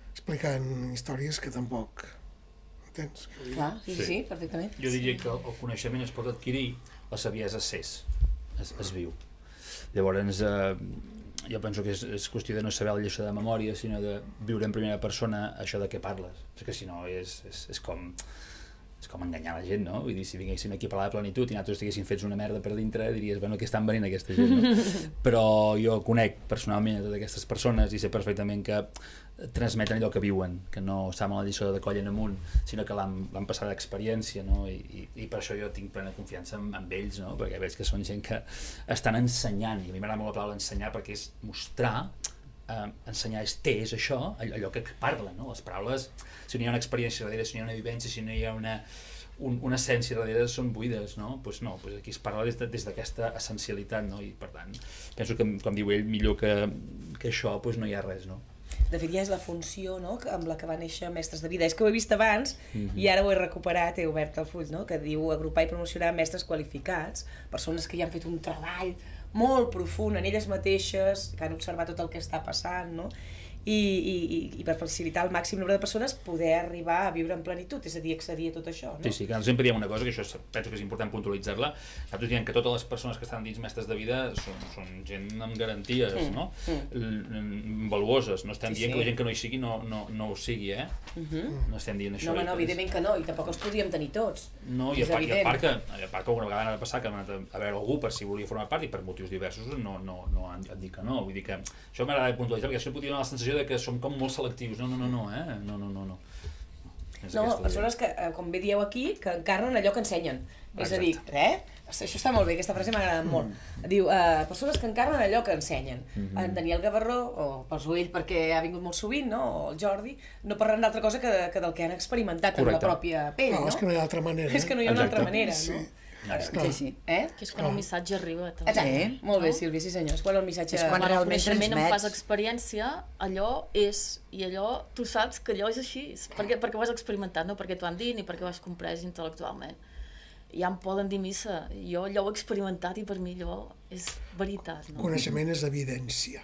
C: explicant històries que tampoc entens.
A: Clar, sí, perfectament.
D: Jo diria que el coneixement es pot adquirir, la saviesa es viu. Llavors, jo penso que és qüestió de no saber la lliçó de memòria, sinó de viure en primera persona això de què parles, perquè si no és com enganyar la gent, no? Vull dir, si vinguéssim aquí a parlar de plenitud i nosaltres estiguéssim fets una merda per dintre, diries, bueno, què estan venint aquesta gent, no? Però jo conec personalment a totes aquestes persones i sé perfectament que transmeten allò que viuen, que no saben la lliçó de coll en amunt, sinó que l'han passat d'experiència, no? I per això jo tinc plena confiança en ells, no? Perquè veig que són gent que estan ensenyant, i a mi m'agrada molt la paraula ensenyar perquè és mostrar, ensenyar és això, allò que parlen, no? Les paraules, si no hi ha una experiència darrere, si no hi ha una vivència, si no hi ha una essència darrere, són buides, no? Doncs no, aquí es parla des d'aquesta essencialitat, no? I per tant, penso que, com diu ell, millor que això, doncs no hi ha res, no?
A: De fet, ja és la funció, no?, amb la que va néixer Mestres de Vida. És que ho he vist abans i ara ho he recuperat, he obert el full, no?, que diu agrupar i promocionar mestres qualificats, persones que ja han fet un treball molt profund en elles mateixes, que han observat tot el que està passant, no?, i per facilitar al màxim nombre de persones poder arribar a viure en plenitud, és a dir, accedir a tot això, no?
D: Sí, que nosaltres sempre diem una cosa, que això penso que és important puntualitzar-la, nosaltres diem que totes les persones que estan dins Mestres de Vida són gent amb garanties, no? Valuoses, no estem dient que la gent que no hi sigui no ho sigui, no estem dient això.
A: No, evidentment que no, i tampoc els podríem tenir tots.
D: No, i a part que una vegada va passar que han anat a veure algú per si volia formar part i per motius diversos no han dit que no, vull dir que això m'agrada puntualitzar perquè això podria donar la sensació de que som com molt selectius, no. No,
A: persones que, com bé dieu aquí, que encarnen allò que ensenyen. És a dir, això està molt bé, aquesta frase m'ha agradat molt. Diu, persones que encarnen allò que ensenyen. En Daniel Gavarró, o poso ell perquè ha vingut molt sovint, no? O el Jordi, no parlen d'altra cosa que del que han experimentat amb la pròpia pell, no?
C: És que no hi ha altra manera.
A: És que no hi ha una altra manera, no?
B: Sí. Que és quan el missatge arriba.
A: Exacte, molt bé, Sílvia, sí senyors. Quan el missatge...
B: És quan realment transmets. En fas experiència, allò és, i allò, tu saps que allò és així, perquè ho has experimentat, no perquè t'ho han dit ni perquè ho has comprès intel·lectualment. ja em poden dir missa. Jo allò ho he experimentat i per mi allò és veritat. No?
C: Coneixement és evidència.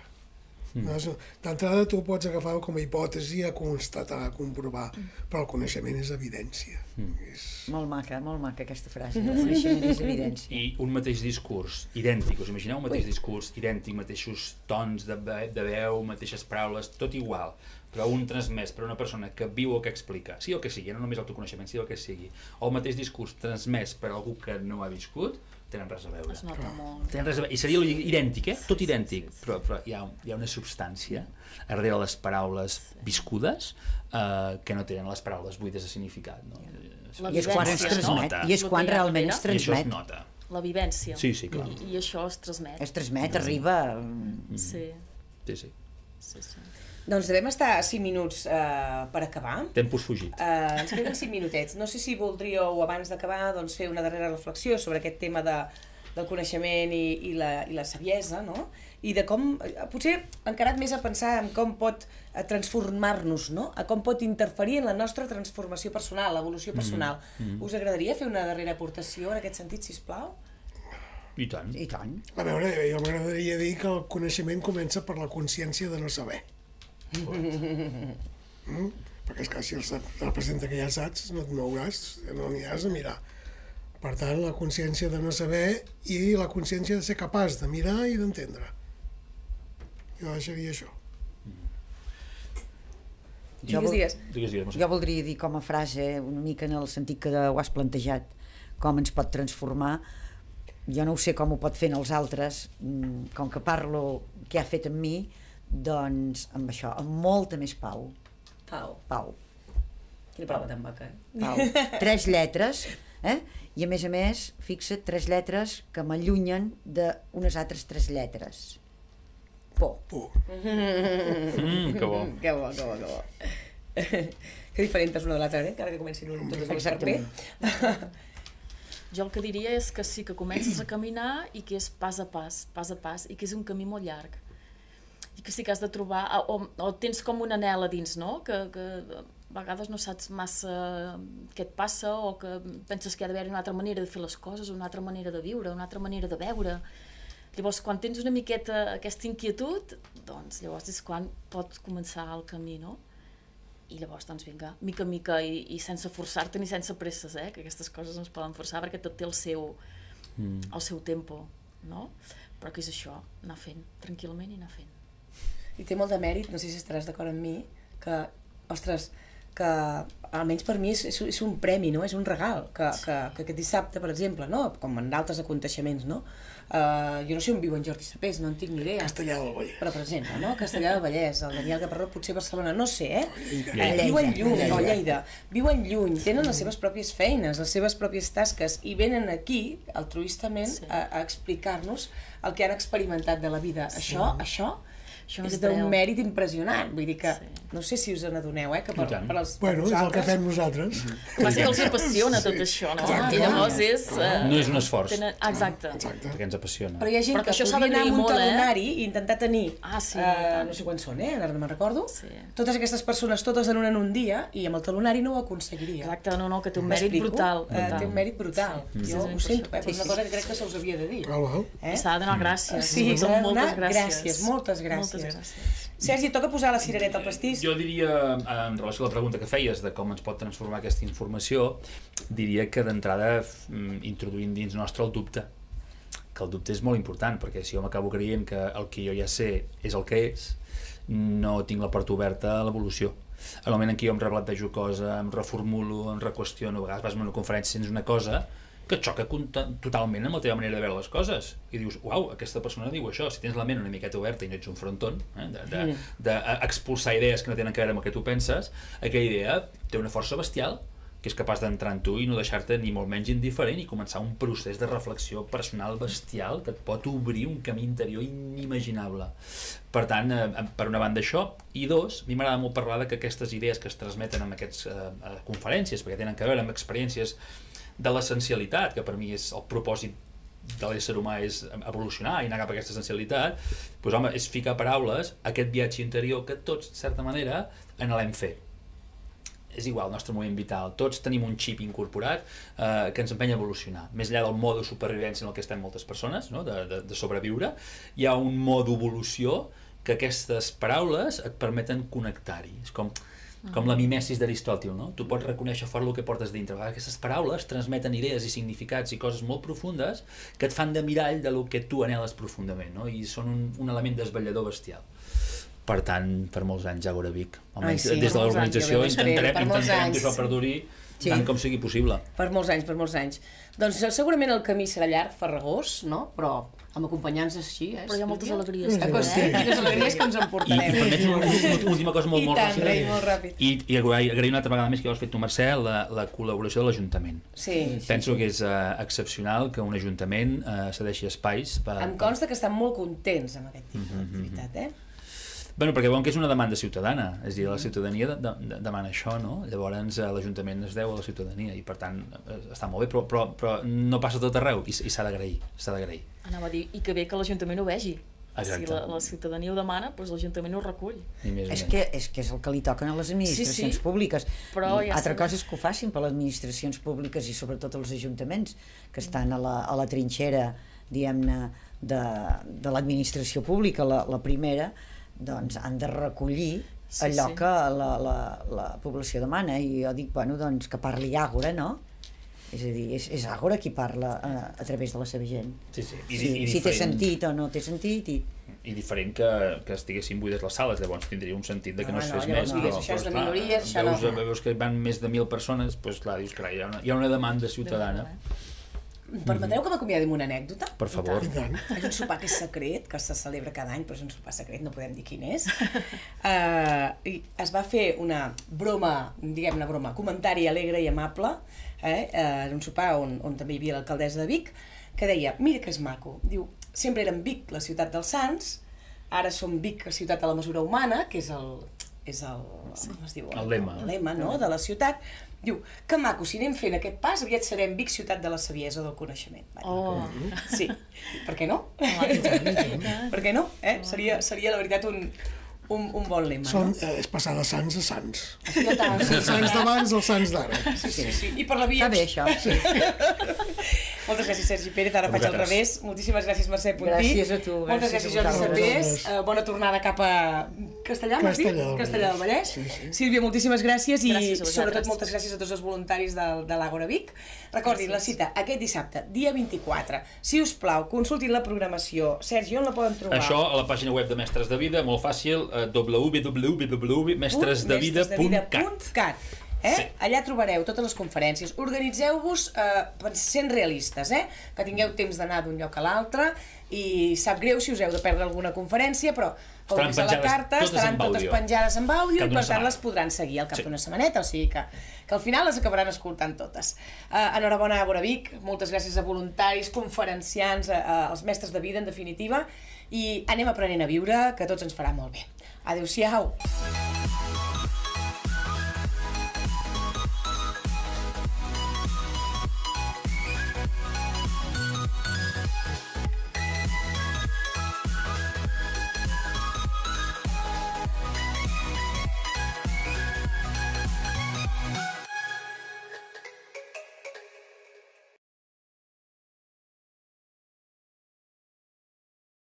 C: D'entrada tu pots agafar com a hipòtesi a constatar, a comprovar, però el coneixement és evidència.
E: Molt maca aquesta frase. El coneixement és evidència.
D: I un mateix discurs idèntic, us imagineu un mateix discurs idèntic, mateixos tons de veu, mateixes paraules, tot igual, però un transmès per una persona que viu o que explica, sí o que sigui, no només autoconeixement, sí o que sigui, o el mateix discurs transmès per algú que no ha viscut, tenen res a veure.
B: Es nota molt.
D: Tenen res a veure. I seria idèntic, tot idèntic, però hi ha una substància darrere les paraules viscudes que no tenen les paraules buides de significat. No?
B: La
E: I és quan es transmet, i és quan realment es
D: I això es
E: transmet.
D: nota.
B: La vivència.
D: Sí, clar.
B: I això es transmet.
E: Es transmet, arriba...
B: Sí.
D: Sí.
A: Doncs devem estar 5 minuts per acabar.
D: Tempos fugit.
A: Ens queden 5 minutets. No sé si voldríeu, abans d'acabar, doncs, fer una darrera reflexió sobre aquest tema del coneixement i la saviesa, no? I de com, potser encarat més a pensar en com pot transformar-nos, no? A com pot interferir en la nostra transformació personal, l'evolució personal. Us agradaria fer una darrera aportació en aquest sentit, sisplau?
D: I tant.
E: I tant.
C: A veure, jo m'agradaria dir que el coneixement comença per la consciència de no saber. Perquè és que si representa que ja saps, no et mouràs, no n'hi has de mirar. Per tant, la consciència de no saber i la consciència de ser capaç de mirar i d'entendre. Jo deixaria això.
A: Digues.
E: Jo voldria dir com a frase, una mica en el sentit que ho has plantejat, com ens pot transformar. Jo no ho sé com ho pot fer en els altres, com que parlo què ha fet en mi, doncs amb això, amb molta més pau. Pau.
A: Quina paraula tan maca,
E: Pau. 3 lletres, i a més, fixa't, 3 lletres que m'allunyen d'unes altres 3 lletres. Por.
D: Que bo.
A: Que bo. Que diferent és una de l'altra, encara que comencin totes dues per bé.
B: Jo el que diria és que sí, que comences a caminar i que és pas a pas, i que és un camí molt llarg. I que sí que has de trobar, o tens com un anhel a dins, no? Que a vegades no saps massa què et passa, o que penses que hi ha d'haver una altra manera de fer les coses, una altra manera de viure, una altra manera de veure. Llavors, quan tens una miqueta aquesta inquietud, doncs llavors és quan pots començar el camí, no? I llavors, doncs vinga, mica en mica, i sense forçar-te ni sense presses, que aquestes coses no es poden forçar perquè tot té el seu tempo, no? Però que és això, anar fent, tranquil·lament i anar fent.
A: I té molt de mèrit, no sé si estaràs d'acord amb mi, que, ostres, que almenys per mi és un premi, no? És un regal, que aquest dissabte, per exemple, no? Com en altres aconteixements, no? Jo no sé on viu en Jordi Sapés, no en tinc ni idea.
C: Castellà del Vallès.
A: Però, per exemple, no? Castellà del Vallès, el Daniel Gaparró, potser Barcelona, no sé,
C: Lleida.
A: Lleida. Viuen lluny, tenen les seves pròpies feines, les seves pròpies tasques, i venen aquí, altruistament, a explicar-nos el que han experimentat de la vida. Això és d'un mèrit impressionant, vull dir que no sé si us n'adoneu, que per als
C: Bueno, és el que fem nosaltres.
B: Va ser que els apassiona tot això, no? I llavors és...
D: No és un esforç.
B: Exacte.
D: Perquè ens apassiona.
A: Però hi ha gent que podria anar amb un talonari i intentar tenir, no sé quants són, ara no me'n recordo, totes aquestes persones, totes en un dia, i amb el talonari no ho aconseguiria.
B: Exacte, no, que té un mèrit brutal.
A: Té un mèrit brutal. Jo ho sento, però és una cosa que crec que se us havia de dir.
B: S'ha de donar gràcies.
A: Sí, s'ha de donar gràcies, moltes gràcies. Sergi, toca posar la cirereta al pastís?
D: Jo diria, en relació a la pregunta que feies de com ens pot transformar aquesta informació, diria que d'entrada introduint dins nostre el dubte. Que el dubte és molt important, perquè si jo m'acabo creient que el que jo ja sé és el que és, no tinc la porta oberta a l'evolució. En el moment en què jo em replantejo cosa, em reformulo, em reqüestiono, a vegades vas a una conferència i sents una cosa que xoca totalment amb la teva manera de veure les coses i dius, uau, aquesta persona diu això. Si tens la ment una miqueta oberta i no ets un fronton d'expulsar idees que no tenen a veure amb el que tu penses, aquella idea té una força bestial que és capaç d'entrar en tu i no deixar-te ni molt menys indiferent i començar un procés de reflexió personal bestial que et pot obrir un camí interior inimaginable. Per tant, per una banda això, i dos, a mi m'agrada molt parlar que aquestes idees que es transmeten en aquestes conferències, perquè tenen a veure amb experiències de l'essencialitat, que per mi és el propòsit de l'ésser humà, és evolucionar i anar cap a aquesta essencialitat, doncs home, és ficar paraules a aquest viatge interior que tots, de certa manera, anhelem fer. és igual el nostre moviment vital, tots tenim un xip incorporat que ens empeny a evolucionar. Més enllà del mode supervivència en el que estem moltes persones, no? de sobreviure, hi ha un mode evolució que aquestes paraules et permeten connectar-hi. És com la mimesis d'Aristòtil, no? Tu pots reconèixer fort el que portes dintre. Aquestes paraules transmeten idees i significats i coses molt profundes que et fan de mirall de lo que tu anheles profundament, no? I són un element desvetllador bestial. Per tant, per molts anys Àgora Vic. Almenys des de l'organització intentarem que això perduri tant com sigui possible.
A: Per molts anys. Doncs segurament el camí serà llarg, farragós, no? Però amb acompanyants així,
B: Però hi ha moltes alegries.
A: Quines alegries que ens emportarem.
D: I permets una última cosa molt
A: ràpida.
D: I agrair una altra vegada més que ja ho has fet tu, Mercè, la col·laboració de l'Ajuntament. Penso que és excepcional que un Ajuntament cedeixi espais.
A: Em consta que estan molt contents amb aquest tipus d'activitat,
D: Bueno, perquè veuen que és una demanda ciutadana, és a dir, la ciutadania demana això, no? Llavors l'Ajuntament es deu a la ciutadania i per tant està molt bé, però no passa tot arreu i s'ha d'agrair.
B: Anava a dir, i que bé que l'Ajuntament ho vegi.
D: Exacte.
B: Si la ciutadania ho demana, doncs l'Ajuntament ho recull.
E: És que és el que li toquen a les administracions públiques.
B: Però
E: altra cosa és que ho facin per les administracions públiques i sobretot els ajuntaments que estan a la trinxera, diguem-ne, de l'administració pública, la primera, doncs han de recollir allò que la població demana, i jo dic, bueno, doncs que parli Àgora, no? És a dir, és Àgora qui parla a través de la seva gent. Si té sentit o no té sentit.
D: I diferent que estiguessin buides les sales, llavors tindria un sentit que no es fes més,
A: però això és de minories, això no.
D: Veus que van més de 1.000 persones, doncs clar, dius, hi ha una demanda ciutadana.
A: Permetreu que m'acomiadi amb una anècdota?
D: Per favor.
A: És un sopar que és secret, que se celebra cada any, però és un sopar secret, no podem dir quin és. I es va fer una broma, diguem-ne broma, comentari alegre i amable, en un sopar on també hi havia l'alcaldessa de Vic, que deia, mira que és maco, diu, sempre érem Vic, la ciutat dels Sants, ara som Vic, la ciutat de la mesura humana, que és el lema, no?, de la ciutat. Diu, que maco, si anem fent aquest pas, aviat serem Vic, ciutat de la saviesa del coneixement. Sí, per què no? Per què no? Seria la veritat un bon lema, no?
C: És passar de sants a sants.
A: Els
C: sants d'abans als sants d'ara.
A: Sí. I per la via...
E: Està bé, això.
A: Moltes gràcies, Sergi Pérez. Ara faig al revés. Moltíssimes gràcies, Mercè Puntí.
E: Gràcies a tu.
A: Moltes gràcies, Jordi Sapés. Bona tornada cap a Castellà, m'has dit? Castellà del Vallès. Sílvia, moltíssimes gràcies i sobretot moltes gràcies a tots els voluntaris de l'Àgora Vic. Recordin la cita aquest dissabte, dia 24. Si us plau, consultin la programació. Sergi, on la poden trobar?
D: Això a la pàgina web de Mestres de Vida, molt fàcil, www.mestresdevida.cat.
A: Allà trobareu totes les conferències. Organitzeu-vos sent realistes, que tingueu temps d'anar d'un lloc a l'altre, i sap greu si us heu de perdre alguna conferència, però com és a la carta, estaran totes penjades amb àudio i per tant les podran seguir al cap d'una setmaneta, o sigui que al final les acabaran escoltant totes. Enhorabona a Àgora Vic, moltes gràcies a voluntaris, conferenciants, als mestres de vida, en definitiva, i anem aprenent a viure, que tots ens farà molt bé. Adéu-siau!